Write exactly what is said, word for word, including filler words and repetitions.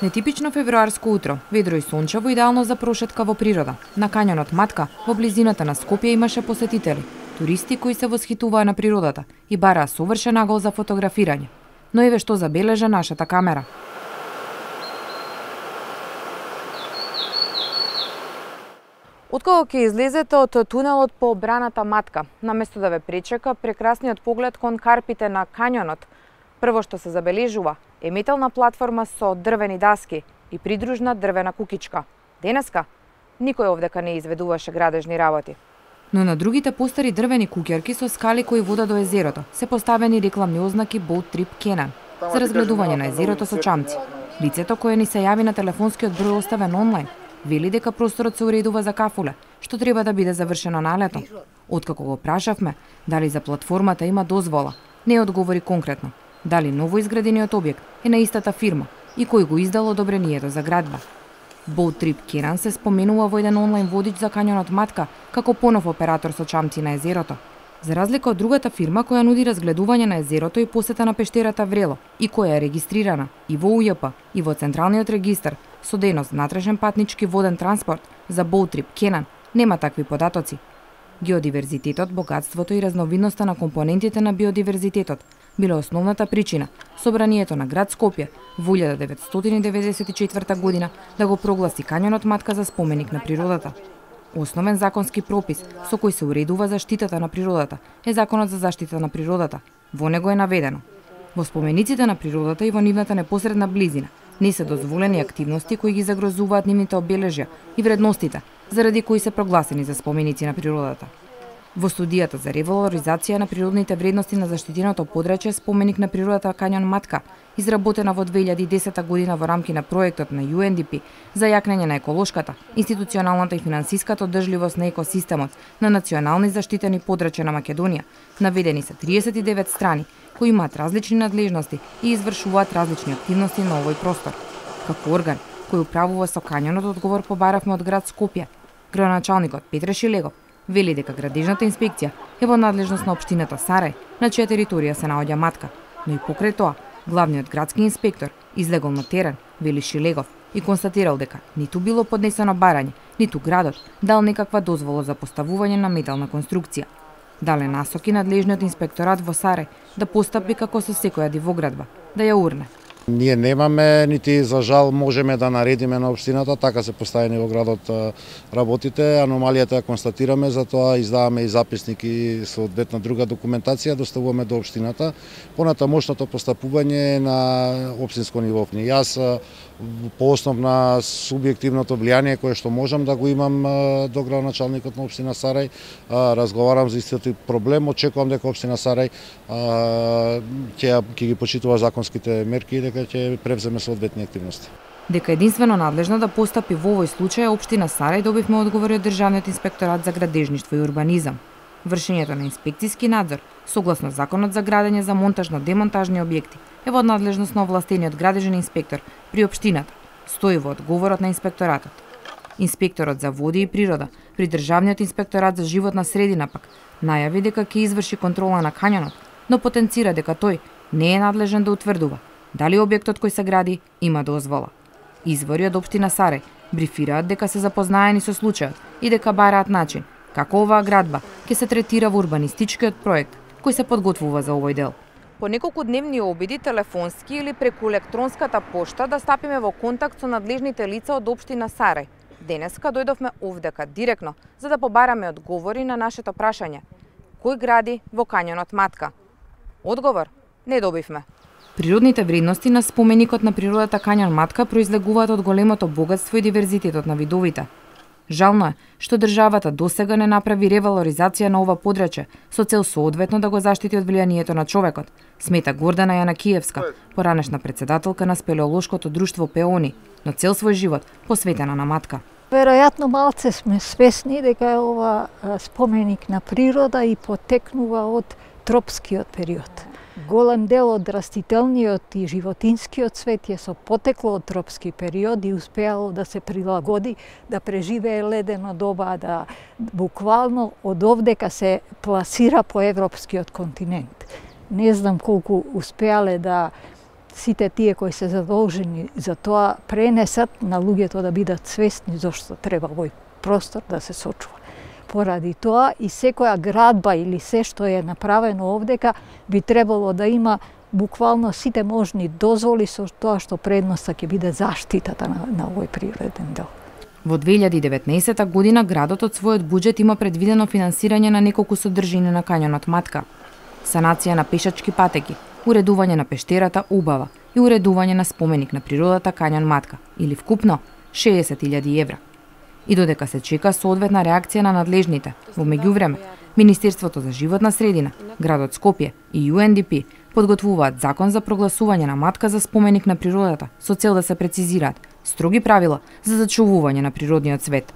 Нетипично февруарско утро, ведро и сончево, идеално за прошетка во природа. На кањонот Матка, во близината на Скопје, имаше посетители, туристи кои се восхитуваа на природата и бараа совршен агол за фотографирање. Но еве што забележа нашата камера. Откако ќе излезете од тунелот по браната Матка, наместо да ве пречека прекрасниот поглед кон карпите на кањонот, прво што се забележува е метална платформа со дрвени даски и придружна дрвена кукичка. Денеска никој овдека не изведуваше градежни работи. Но на другите постари дрвени куќерки со скали кои водат до езерото се поставени рекламни ознаки Boat Trip Kenan за разгледување на езерото со чамци. Лицето кое ни се јави на телефонскиот број оставен онлайн вели дека просторот се уредува за кафуле, што треба да биде завршено на лето. Откако го прашавме дали за платформата има дозвола, не одговори конкретно. Дали новоизградениот објект е на истата фирма и кој го издал одобрението за градба. Boat Trip Kenan се споменува во еден онлайн водич за кањонот Матка како понов оператор со чамци на езерото. За разлика од другата фирма која нуди разгледување на езерото и посета на пештерата Врело и која е регистрирана и во У Ј П и во Централниот регистар со дејност натрешен патнички воден транспорт, за Boat Trip Kenan нема такви податоци. Геодиверзитетот, богатството и разновидноста на компонентите на биодиверзитетот било основната причина собранието на град Скопје во илјада деветстотини деветдесет и четврта година да го прогласи кањонот Матка за споменик на природата. Основен законски пропис со кој се уредува заштитата на природата е Законот за заштита на природата. Во него е наведено: во спомениците на природата и во нивната непосредна близина не се дозволени активности кои ги загрозуваат нивните обележја и вредностите, заради кои се прогласени за споменици на природата. Во студијата за ревалоризација на природните вредности на заштитеното подрачје споменик на природата кањон Матка, изработена во две илјади и десета година во рамки на проектот на Ю Ен Ди Пи за јакнење на еколошката, институционалната и финансиската одржливост на екосистемот на национални заштитени подрачја на Македонија, наведени се триесет и девет страни кои имаат различни надлежности и извршуваат различни активности на овој простор. Како орган кој управува со кањонот, одговор побаравме од град Скопје. Градоначалникот Петре Шилегов вели дека градежната инспекција е во надлежност на општината Сарај, на чија територија се наоѓа Матка, но и покрај тоа, главниот градски инспектор излегол на терен, вели Шилегов, и констатирал дека ниту било поднесено барање, ниту градот дал некаква дозвола за поставување на метална конструкција. Дале насоки надлежниот инспекторат во Сарај да постапи како со секоја дивоградба, да ја урне. Ние немаме, нити за жал можеме да наредиме на општината, така се поставени во градот работите. Аномалијата ја констатираме, затоа издаваме и записник и соодветна друга документација, доставуваме до општината. Понатамошното постапување на општинско ниво. Јас по основ на субјективното влијание кое што можам да го имам до градоначалникот на општина Сарај, разговарам за истиот проблем, очекувам дека општина Сарај ќе ќе ги почитува законските мерки и дека ќе превземе соодветни активности. Дека единствено надлежно да постапи во овој случај е општина Сарај, добивме одговори од Државниот инспекторат за градежништво и урбанизам. Вршењето на инспекциски надзор, согласно Законот за градење за монтажно-демонтажни објекти, е во надлежност на овластениот градежен инспектор при општината, стои во одговорот на инспекторатот. Инспекторот за води и природа при Државниот инспекторат за животна средина пак најави дека ќе изврши контрола на кањонот, но потенцира дека тој не е надлежен да утврдува дали објектот кој се гради има дозвола. Извори од општина Сарај брифираат дека се запознаени со случајот и дека бараат начин како оваа градба ќе се третира во урбанистичкиот проект кој се подготвува за овој дел. По неколку дневни обиди, телефонски или преку електронската пошта, да стапиме во контакт со надлежните лица од општина Сарај. Денеска дојдовме овдека директно за да побараме одговори на нашето прашање: кој гради во кањонот Матка? Одговор не добивме. Природните вредности на споменикот на природата кањон Матка произлегуваат од големото богатство и диверзитетот на видовите. Жално е што државата досега не направи ревалоризација на ова подрачје со цел соодветно да го заштити од влијанието на човекот, смета Гордана Јанакиевска, поранешна председателка на спелеолошкото друштво Пеони, но цел свој живот посветена на Матка. Веројатно малце сме свесни дека е ова споменик на природа и потекнува од тропскиот период. Голем дел од растителниот и животинскиот свет е со потекло од тропски период и успеало да се прилагоди, да преживее ледено доба, да буквално од овдека се пласира по европскиот континент. Не знам колку успеале да сите тие кои се задолжени за тоа пренесат на луѓето да бидат свесни зошто треба овој простор да се сочува. Поради тоа и секоја градба или се што е направено овдека би требало да има буквално сите можни дозволи со тоа што предноста ќе биде заштитата на, на овој природен дел. Во две илјади и деветнаесетта година градот од својот буџет има предвидено финансирање на неколку содржини на кањонот Матка. Санација на пешачки патеки, уредување на пештерата Убава и уредување на споменик на природата Кањон Матка, или вкупно шеесет илјади евра. И додека се чека соодветна реакција на надлежните, во меѓувреме, Министерството за животна средина, градот Скопје и Ю Ен Ди Пи подготвуваат закон за прогласување на Матка за споменик на природата со цел да се прецизираат строги правила за зачувување на природниот свет.